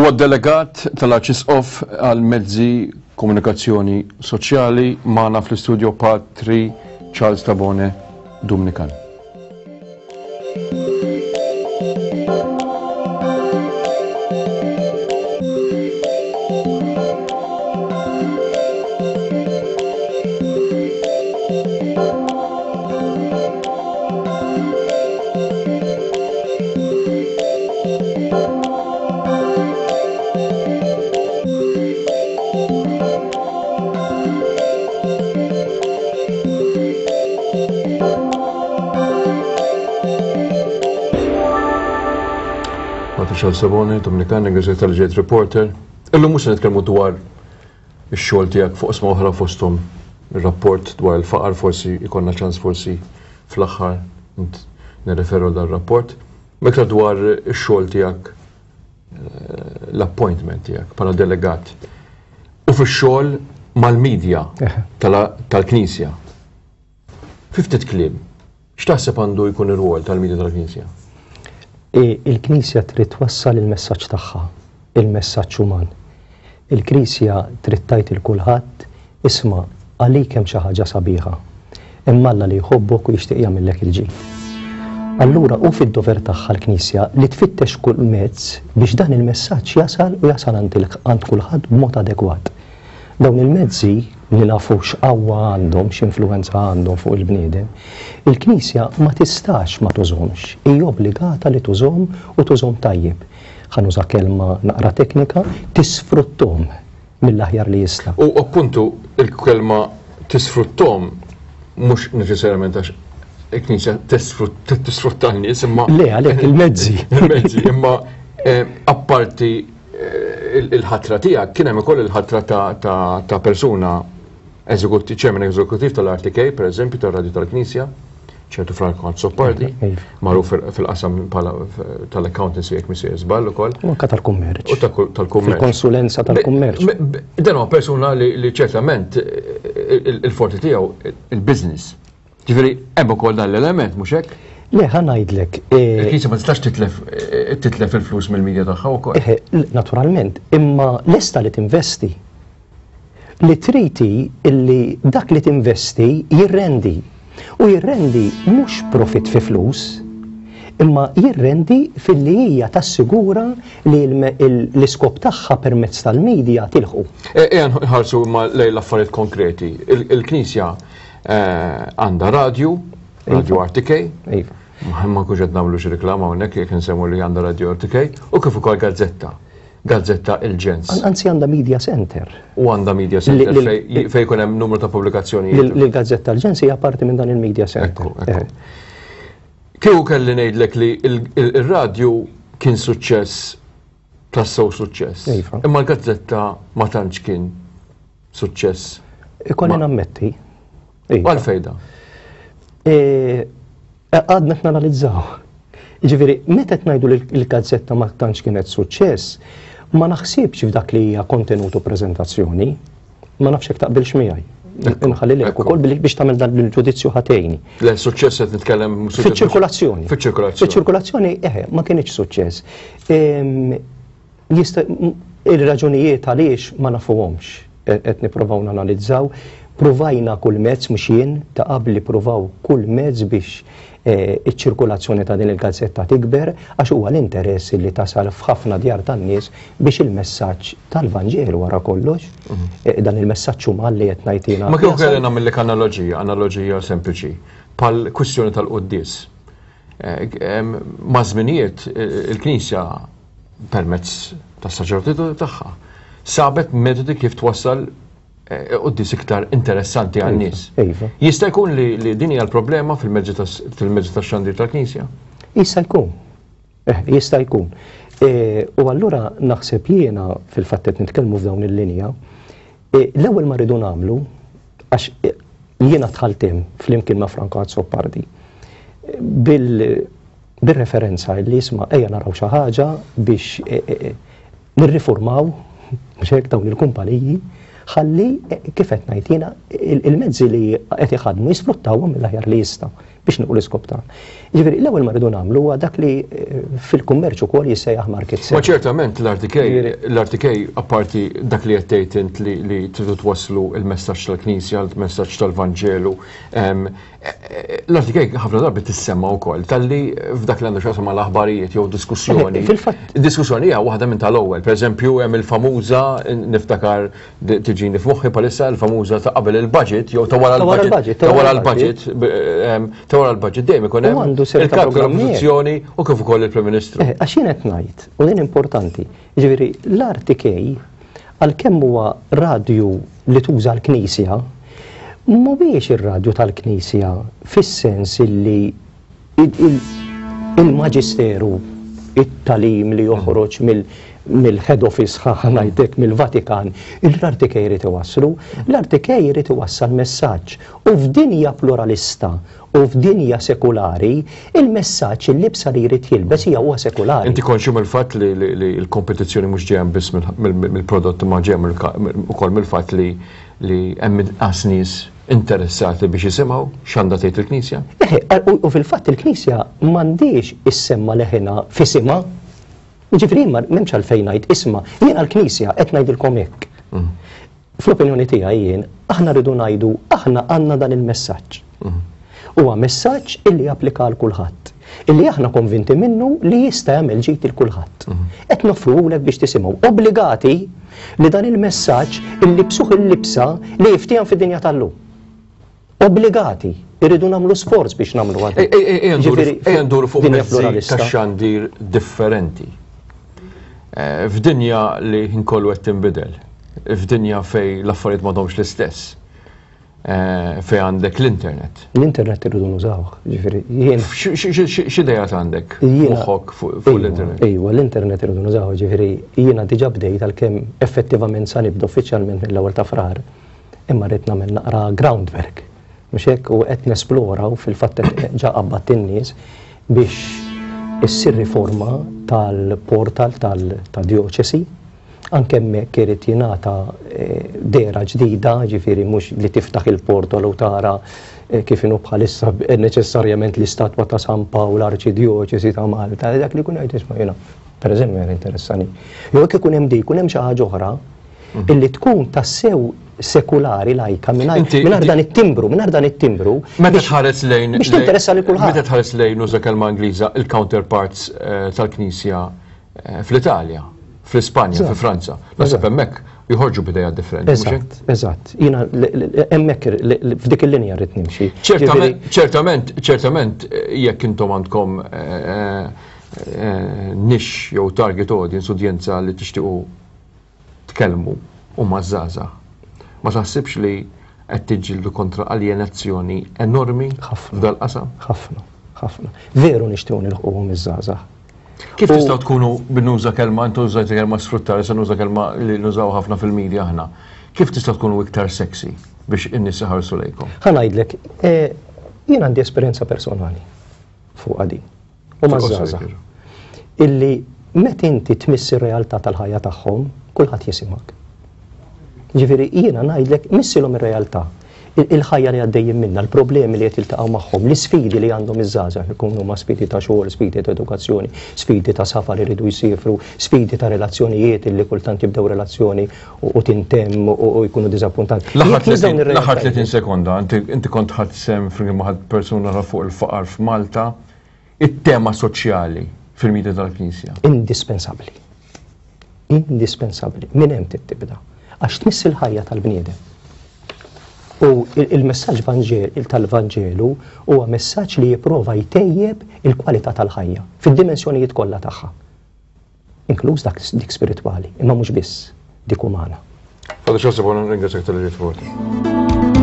Huwa delegat tal-Arċisqof għal mezzi komunikazzjoni soċjali magħna fl-istudio Patri Charles Tabone Dumnikan. Charles Saboni, Dominikani, Gazzetta tal-Ġejt Reporter. Illum mhux se nitkellmu dwar ix-xogħol tiegħek fuq isma oħra fosthom ir-rapport dwar il-faqar forsi jkollna ċans forsi fl-aħħar nirreferu dan rapport. Meta dwar ix-xogħol tiegħek eh, l-appointment tiegħek bħala delegat u fix-xogħol mal-medja tal-Knisja. Fi ftit kliem, x'taħseb għandu jkun ir-rwol tal-medja tal-Knisja? Il-Knisja trid twassal il-messaġġ tagħha, il-messaġġ uman. Il-Knisja trid tgħid 'il kulħadd, isma' għalik hemm xi ħaġa sabiħa. Hemm Alla li jħobbok u jixtieq jagħmillek il-ġid. Allura hu fid-dover tagħha l-Knisja li tfittex kull mezz biex dan il-messaġġ jasal u jasal għand kulħadd b'mod adekwat. Dawn il-mezzi, li nafu x'qawwa għandhom, x'influwenza għandhom fuq il-bniedem, il-Knisja ma tistax ma tużhomx, hi obbligata li tużhom u tużhom tajjeb. Ħa nuża kelma naqra teknika, tisfrutthom mill-aħjar li jista'. U appuntu il-kelma tisfrutthom mhux neċessarjament għax il-Knisja tisfrutta n-nies imma. Le, għalhekk il-mezzi. Il-mezzi, imma eh, apparti eh, il-ħatra tiegħek kien hemm ukoll il-ħatra ta' persuna eżekuttiv, chairman eżekuttiv tal-RTK, per eżempju, tal-Radju tal-Knisja, ċertu Franco Azzopardi, iva. magħruf fil-qasam tal-accountancy jekk misir żball ukoll. U anke tal-kummerċ. U tal-kummerċ. Fil-konsulenza tal-kummerċ. Dan huwa persuna li ċertament il-forti tiegħu il-business. Ġifieri hemm ukoll dan l-element mhux hekk? Le, ħa ngħidlek. E, Il-Knisja ma tistax titlef e, titlef il-flus mill-medja tagħha wkoll. Naturalment, imma lesta li tinvesti. Li trid hi illi dak li tinvesti jirrendi. U jirrendi mhux profitt fi flus, imma jirrendi filli hija tassigura li l-iskop tagħha permezz tal-media tilħqu. Ejja nħarsu imma lejn l-affarijiet konkreti. Il-Knisja għandha radju, Radio RTK. Iva. Ma nkunx qed nagħmlu xi reklama hawnhekk jekk insemmu li għandha Radio RTK u kif ukoll gazzetta. Gazzetta Il-Ġens. Anzi għandha media center. U għandha media center fejn jkun hemm numru ta' pubblikazzjonijiet. L-Gazzetta Il-Ġens hija parti minn dan il-media center. Eh. Kieku kelli ngħidlek li il-radju kien suċċess tassew suċċess. Iva. Imma l-gazzetta ma tantx kien suċċess. Ikolli nammetti. Iva. Għalfejda. E, Għadna qed nanalizzaw. Jiġifieri, meta qed ngħidu li l-gazzetta ma tantx kienet suċċess, ma naħsibx f'dak li hija kontenut u preżentazzjoni. Ma nafx jekk taqbilx miegħi. Inħalli lilek ukoll biex tagħmel dan il-ġudizzju ħatejni. Le, suċċess qed nitkellem Fiċ-ċirkolazzjoni. Fiċ-ċirkolazzjoni. Fiċ-ċirkolazzjoni, eħe, ma kienx suċċess. Jista' ir-raġunijiet għaliex ma nafuhomx. Qed nipprovaw nanalizzaw. Pruvajna kull mezz, mhux jien, ta' qabli pruvaw kull mezz biex iċ-ċirkulazzjoni ta' din il-gazzetta tikber għax huwa l-interess li tasal f'ħafna djar tan-nies biex il-messaġġ tal-Vanġelu wara kollox, dan il-messaġġ uman li qed ngħid jiena. Ma kieku kelli nagħmillek analoġija, analoġija sempliċi, bħal kwistjoni tal-quddies. Maż-żminijiet il-Knisja permezz tas-saċerdoti tagħha, sabet metodi kif twassal eh, quddies iktar interessanti iva, għan-nies. Iva. Jista' jkun li din hija l-problema fil-mezzi tax-xandir tal-Knisja? Jista' jkun. Eh, jista' jkun. Eh, u allura naħseb jiena fil-fatt qed nitkellmu f'dawn il-linja, l-ewwel ma rridu nagħmlu għax jiena dħalt hemm flimkien ma' Franco Azzopardi bil bir-referenza li isma' ejja naraw xi ħaġa biex e, e, e, nirriformaw mhux hekk dawn il-kumpaniji ħalli kif qed ngħid jiena il-mezzi li qed iħadmu jisfruttawhom mill-aħjar li jistgħu. biex nilħqu l-iskop tagħna. Jiġifieri l-ewwel ma rridu nagħmlu huwa dak li eh, fil-kummerċ ukoll jissejjaħ market Ma ċertament l-RTK, l-RTK apparti dak li qed tgħid int li tridu twasslu il-messaġġ tal-Knisja, il-messaġġ tal-Vanġelu, l-RTK ħafna drabi tissemma wkoll talli f'dak li għandu x'jaqsam mal-aħbarijiet jew diskussjoni. Eh, fil-fatt. Diskussjoni hija waħda minn tal-ewwel. Pereżempju hemm il-famuża niftakar tiġini f'moħħi palissa l-famuża ta' qabel il-budget jew ta' wara l-budget. Ta' wara l-budget, ta' wara l-budget dejjem ikun hemm il-kap tal-oppożizzjoni u kif ukoll il-Prim Ministru. Eh, għax jien qed ngħid, u din importanti, jiġifieri l-RTK għalkemm huwa radju li tuża l-Knisja, mhuwiex ir-radju tal-Knisja fis-sens illi Il-Maġisteru, it-tagħlim li joħroġ mill-head office ħa ngħidlek mill-Vatikan, l-RTK jrid iwasslu. L-RTK jrid iwassal messaġġ. U f'dinja pluralista u f'dinja sekulari, il-messaġġ, il-libsa li jrid jilbes hija huwa sekulari. Inti konxju mill-fatt li l-kompetizzjoni mhux ġejja biss mill-prodott imma ġejja ukoll mill-fatt li hemm inqas nies interessati biex jisimgħu x'għandha tgħid il-Knisja? Eħe, u fil-fatt il-Knisja m'għandhiex issemma' leħinha f'isimha. Jiġifieri jien m'hemmx għalfejn ngħid isma' jiena l-Knisja qed ngħidilkom hekk. Mm. Fl-opinjoni tiegħi jien, aħna rridu ngħidu aħna għandna dan il-messaġġ. Mm. Huwa messaġġ illi japplika għal kulħadd. Illi aħna konvinti minnu li jista' jagħmel ġid il kulħadd. Mm. Qed noffruhulek biex tisimgħu. Obbligati li dan il-messaġġ illibsuh il-libsa li jiftiehem fid-dinja tal-lum. Obbligati, irridu nagħmlu sforz biex nagħmlu għad. Ejja nduru fuq mezzi ta' xandir differenti. Eh, f'dinja li nkollu qed tinbidel, f'dinja fej l-affarijiet m'għadhomx l-istess. Eh, fej għandek l-internet. L-internet irridu nużawh, ġifieri jien. X'idejat għandek moħħok fuq l-internet? Ejwa, l-internet irridu nużawh, ġifieri jiena diġà bdejt għalkemm effettivament sa nibda uffiċjalment mill-ewwel ta' Frar, imma rrid nagħmel naqra groundwork. Mhux hekk u qed nesplora u fil-fatt ġa qabbadt in-nies biex issir riforma tal-portal tal-djoċesi Anke hemmhekk irid jingħata dehra ġdida, jiġifieri mhux li tiftaħ il-portal u tara kif inhu bħalissa neċessarjament l-istatwa ta' San Pawl Arċidjoċesi ta' Malta, dak li jkun jgħid isma' jiena pereżempju jien interessani. Jew jekk ikun hemm dik, ikun hemm xi ħaġa oħra mhm. illi tkun tassew sekulari lajka mingħajr dan it-timbru, mingħajr dan it-timbru. Meta tħares lejn biex tinteressa lil kulħadd. Meta tħares lejn uża kelma Ingliża il-counterparts eh, tal-Knisja eh, fl-Italja, fl-Ispanja, fi Franza. Naħseb hemmhekk joħorġu b'idea differenti. Eżatt, eżatt. Jiena hemmhekk f'dik il-linja rrid nimxi. Ċertament, ċertament jekk intom għandkom eh, eh, nix jew target audience, udjenza li tixtiequ tkellmu huma ż-żgħażagħ. Ma taħsibx li qed tiġġieldu kontra aljenazzjoni enormi f'dal-qasam? Ħafna, ħafna. Veru nixtiequ nilħquhom iż-żgħażagħ. Kif tistgħu tkunu nuża kelma, intu użajt kelma sfruttare, se nuża kelma li nużaw ħafna fil-media aħna. Kif tistgħu tkunu iktar sexy biex in-nies iħarsu lejkom? Ħa ngħidlek, eh, jien għandi esperjenza personali fuq din. U maż-żgħażagħ. Illi meta inti tmiss ir-realtà tal-ħajja tagħhom, kulħadd jisimgħek. Ġifieri jiena ngħidlek missilhom ir-realtà. Il-ħajja li għaddejjin minnha, l-problemi li qed jiltaqgħu magħhom, l-isfidi li għandhom iż-żgħażagħ, ikunu huma sfidi ta' xogħol, sfidi ta' edukazzjoni, sfidi ta' safar iridu jsifru, sfidi ta' relazzjonijiet illi kultant jibdew relazzjoni u tintemm u jkunu diżappuntati. L-aħħar 30 sekonda, inti kont ħadt sehem flimkien ma' persuna oħra fuq il-faqar f'Malta, it-tema soċjali fil-media tal-Knisja. Indispensabbli. Indispensabbli. Minn hemm trid tibda. Għax tmiss il-ħajja tal-bniedem. U il-messaġġ tal-Vanġelu huwa messaġġ li jipprova jtejjeb il-kwalità tal-ħajja fid-dimensjonijiet kollha tagħha. Inkluż dak dik spiritwali, imma mhux biss dik umana. Father Joseph, ringrazzjak tal-li ġejt.